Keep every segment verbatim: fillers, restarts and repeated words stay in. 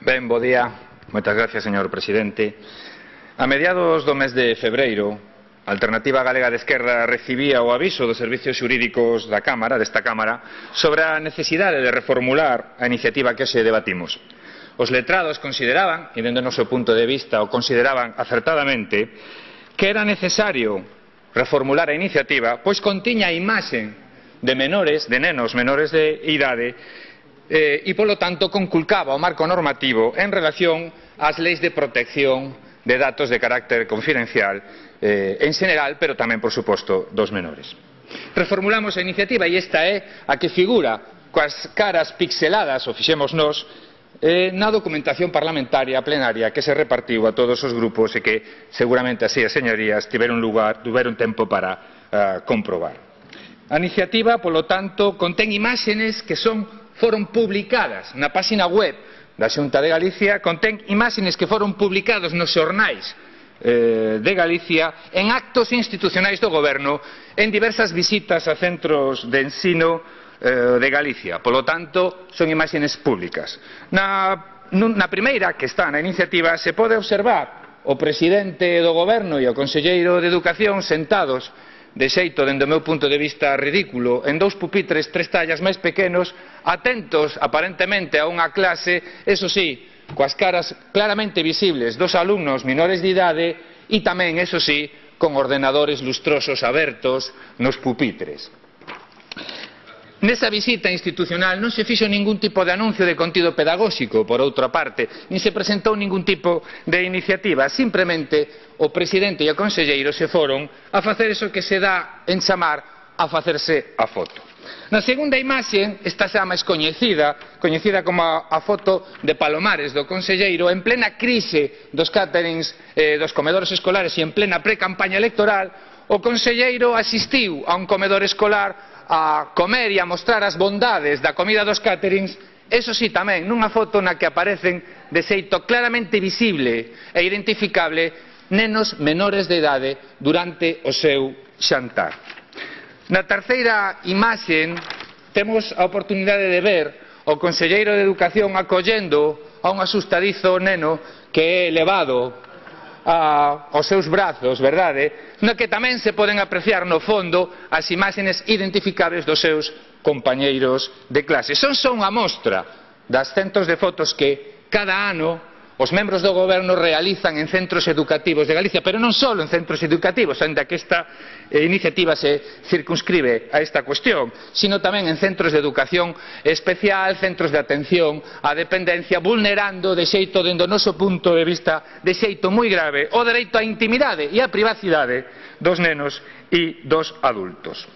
Ben, bo día. Moitas gracias, señor presidente. A mediados do mes de febreiro, a Alternativa Galega de Esquerda recibía o aviso dos servicios xurídicos da Cámara, desta Cámara, sobre a necesidade de reformular a iniciativa que hoxe debatimos. Os letrados consideraban, e dende o noso punto de vista o consideraban acertadamente, que era necesario reformular a iniciativa, pois contiña a imaxe de menores, de nenos menores de idade, eh, e polo tanto conculcaba o marco normativo en relación ás leis de protección de datos de carácter confidencial eh, en xeral, pero tamén, por suposto, dos menores. Reformulamos a iniciativa e esta é a que figura coas caras pixeladas, o fixemos nós, eh, na documentación parlamentaria plenaria que se repartiu a todos os grupos e que seguramente así as señorías tiveron lugar, tiveron tempo para uh, comprobar. A iniciativa, polo tanto, contén imágenes que son foron publicadas na página web da Xunta de Galicia, contén imágenes que foron publicados nos xornais eh, de Galicia en actos institucionais do goberno, en diversas visitas a centros de ensino eh, de Galicia. Polo tanto, son imágenes públicas. Na, na primeira, que está na iniciativa, se pode observar o presidente do goberno e o conselleiro de Educación sentados de xeito, dende o meu punto de vista ridículo, en dous pupitres tres tallas máis pequenos, atentos aparentemente a unha clase, eso sí, coas caras claramente visibles dos alumnos menores de idade e tamén, eso sí, con ordenadores lustrosos abertos nos pupitres. Nesa visita institucional non se fixo ningún tipo de anuncio de contido pedagóxico, por outra parte, nin se presentou ningún tipo de iniciativa, simplemente o presidente e o conselleiro se foron a facer eso que se dá en chamar a facerse a foto. Na segunda imaxe, esta xa máis coñecida, coñecida como a, a foto de Palomares do conselleiro, en plena crise dos caterings eh, dos comedores escolares e en plena pre-campaña electoral, o conselleiro asistiu a un comedor escolar a comer e a mostrar as bondades da comida dos caterings, eso sí tamén, nunha foto na que aparecen de xeito claramente visible e identificable nenos menores de idade durante o seu xantar. Na terceira imaxe temos a oportunidade de ver o conselleiro de Educación acollendo a un asustadizo neno que é levado a, aos seus brazos, verdade? No que tamén se poden apreciar no fondo as imaxes identificables dos seus compañeiros de clase. Son só unha mostra das centos de fotos que cada ano os membros do goberno realizan en centros educativos de Galicia, pero non só en centros educativos, aínda que esta eh, iniciativa se circunscribe a esta cuestión, sino tamén en centros de educación especial, centros de atención á dependencia, vulnerando de xeito, dende o noso punto de vista, de xeito moi grave, o dereito á intimidade e á privacidade dos nenos e dos adultos.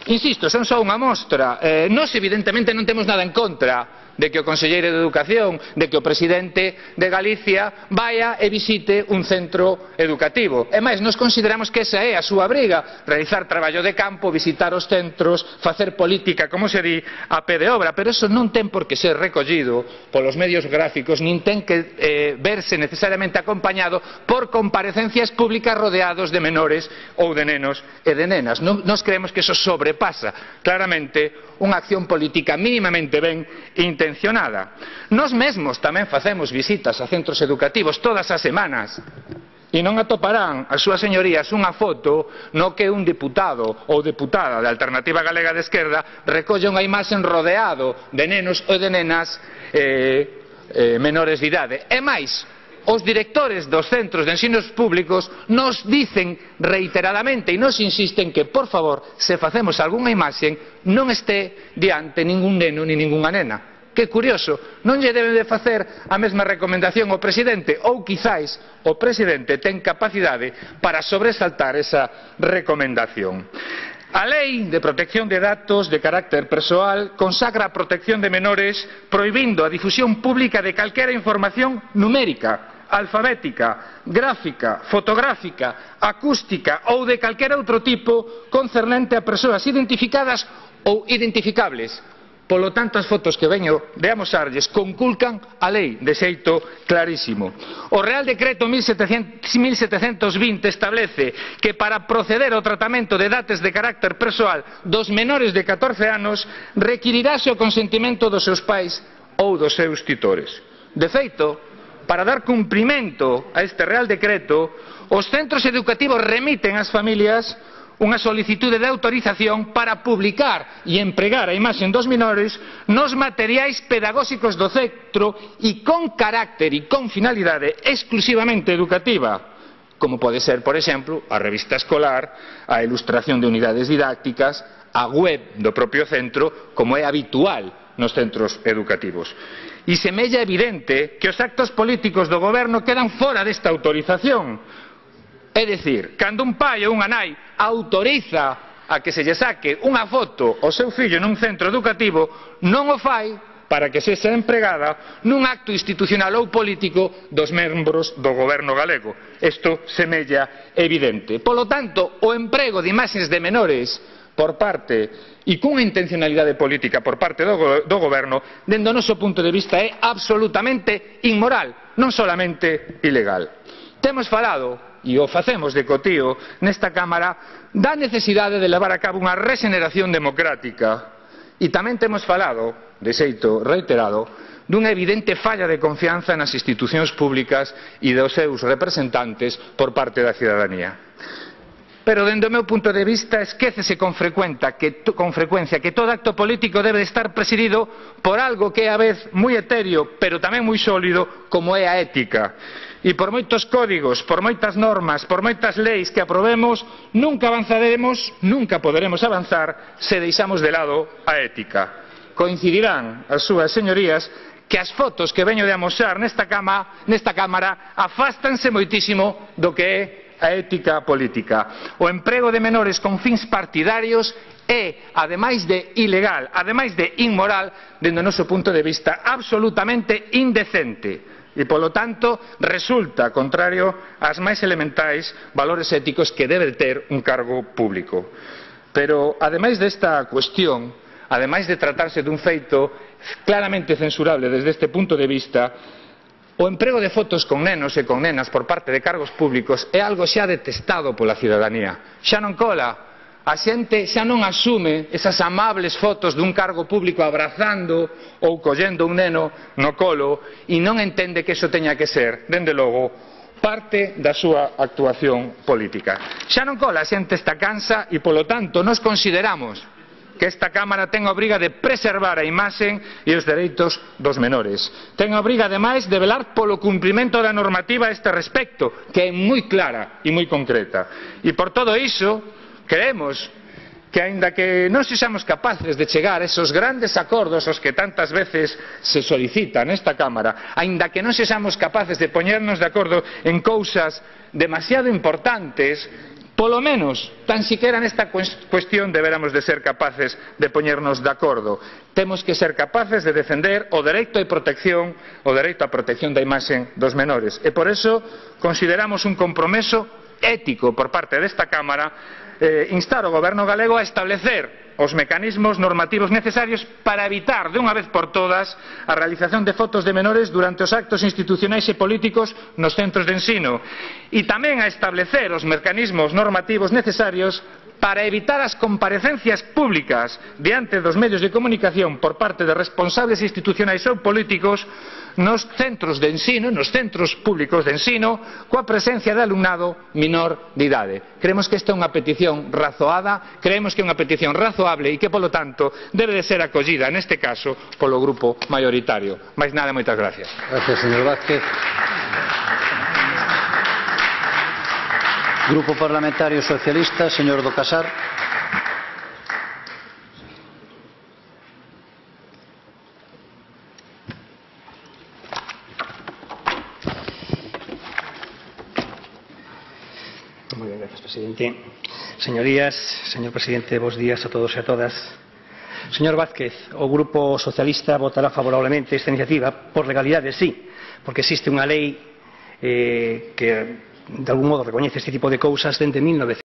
Insisto, son só unha mostra. Eh, nós, evidentemente, non temos nada en contra de que o conselleiro de Educación, de que o presidente de Galicia vaya e visite un centro educativo. E máis, nós consideramos que esa é a súa briga, realizar traballo de campo, visitar os centros, facer política, como se di, a pé de obra, pero eso non ten por que ser recollido polos medios gráficos, nin ten que eh, verse necesariamente acompañado por comparecencias públicas rodeados de menores ou de nenos e de nenas. Nós creemos que eso sobrepasa claramente unha acción política mínimamente ben intencionada. Nós mesmos tamén facemos visitas a centros educativos todas as semanas e non atoparán as súas señorías unha foto no que un deputado ou deputada da Alternativa Galega de Esquerda recolle unha imaxe rodeado de nenos ou de nenas eh, eh, menores de idade. E máis, os directores dos centros de ensinos públicos nos dicen reiteradamente e nos insisten que, por favor, se facemos algunha imaxe, non este diante ningún neno ni ningunha nena. Que curioso, non lle deben de facer a mesma recomendación ao presidente, ou quizáis o presidente ten capacidade para sobresaltar esa recomendación. A Lei de Protección de Datos de Carácter Persoal consagra a protección de menores prohibindo a difusión pública de calquera información numérica, alfabética, gráfica, fotográfica, acústica ou de calquera outro tipo concernente a persoas identificadas ou identificables. Polo tanto, as fotos que veño de amosarlles conculcan a lei de xeito clarísimo. O Real Decreto mil setecentos vinte establece que para proceder ao tratamento de datos de carácter persoal dos menores de catorce anos requirirase o consentimento dos seus pais ou dos seus titores. De feito, para dar cumprimento a este Real Decreto, os centros educativos remiten ás familias unha solicitude de autorización para publicar e empregar a imaxe dos menores nos materiais pedagóxicos do centro e con carácter e con finalidade exclusivamente educativa, como pode ser, por exemplo, a revista escolar, a ilustración de unidades didácticas, a web do propio centro, como é habitual nos centros educativos. E semella evidente que os actos políticos do goberno quedan fora desta autorización. É dicir, cando un pai ou unha nai autoriza a que se lle saque unha foto ao seu fillo nun centro educativo, non o fai para que sexa empregada nun acto institucional ou político dos membros do goberno galego. Isto semella evidente. Polo tanto, o emprego de imaxes de menores por parte e cunha intencionalidade política por parte do, do goberno, dende o noso punto de vista, é absolutamente inmoral, non solamente ilegal. Temos falado, e o facemos de cotío nesta Cámara, da necesidade de levar a cabo unha regeneración democrática, e tamén temos falado, de xeito reiterado, dunha evidente falla de confianza nas institucións públicas e dos seus representantes por parte da cidadanía. Pero, dende o meu punto de vista, esquécese con, que, con frecuencia que todo acto político debe de estar presidido por algo que é a vez moi etéreo, pero tamén moi sólido, como é a ética. E por moitos códigos, por moitas normas, por moitas leis que aprobemos, nunca avanzaremos, nunca poderemos avanzar se deixamos de lado a ética. Coincidirán as súas señorías que as fotos que veño de amosar nesta, cama, nesta Cámara afástanse moitísimo do que é a ética política. O emprego de menores con fins partidarios é, ademais de ilegal, ademais de inmoral, dende o noso punto de vista, absolutamente indecente. E, polo tanto, resulta contrario ás máis elementais valores éticos que debe ter un cargo público. Pero, ademais desta cuestión, ademais de tratarse dun feito claramente censurable desde este punto de vista, o emprego de fotos con nenos e con nenas por parte de cargos públicos é algo xa detestado pola cidadanía. Xa non cola. A xente xa non asume esas amables fotos dun cargo público abrazando ou collendo un neno no colo e non entende que iso teña que ser, dende logo, parte da súa actuación política. Xa non cola, a xente está cansa e, polo tanto, nos consideramos que esta Cámara ten a obriga de preservar a imaxe e os dereitos dos menores. Ten a obriga, ademais, de velar polo cumprimento da normativa a este respecto, que é moi clara e moi concreta. E por todo iso, creemos que, aínda que non sexamos capaces de chegar a esos grandes acordos aos que tantas veces se solicita nesta Cámara, aínda que non sexamos capaces de poñernos de acordo en cousas demasiado importantes, polo menos, tan siquiera nesta cuestión deberamos de ser capaces de poñernos de acordo. Temos que ser capaces de defender o dereito de protección, o dereito á protección da imaxe dos menores. E por eso consideramos un compromiso ético por parte desta Cámara eh, instar o Goberno galego a establecer os mecanismos normativos necesarios para evitar, de unha vez por todas, a realización de fotos de menores durante os actos institucionais e políticos nos centros de ensino, e tamén a establecer os mecanismos normativos necesarios para evitar as comparecencias públicas diante dos medios de comunicación por parte de responsables institucionais ou políticos nos centros de ensino, nos centros públicos de ensino, coa presencia de alumnado menor de idade. Creemos que esta é unha petición razoada, creemos que é unha petición razoable e que, polo tanto, debe de ser acollida, neste caso, polo grupo maioritario. Mais nada, moitas gracias. Gracias, señor Vázquez. Grupo Parlamentario Socialista, señor do Casar. Muy bien, gracias, presidente. Señorías, señor presidente, bos días a todos e a todas. Señor Vázquez, o Grupo Socialista votará favorablemente esta iniciativa por legalidade, sí, porque existe unha lei eh, que de algún modo recoñece este tipo de cousas dende mil novecientos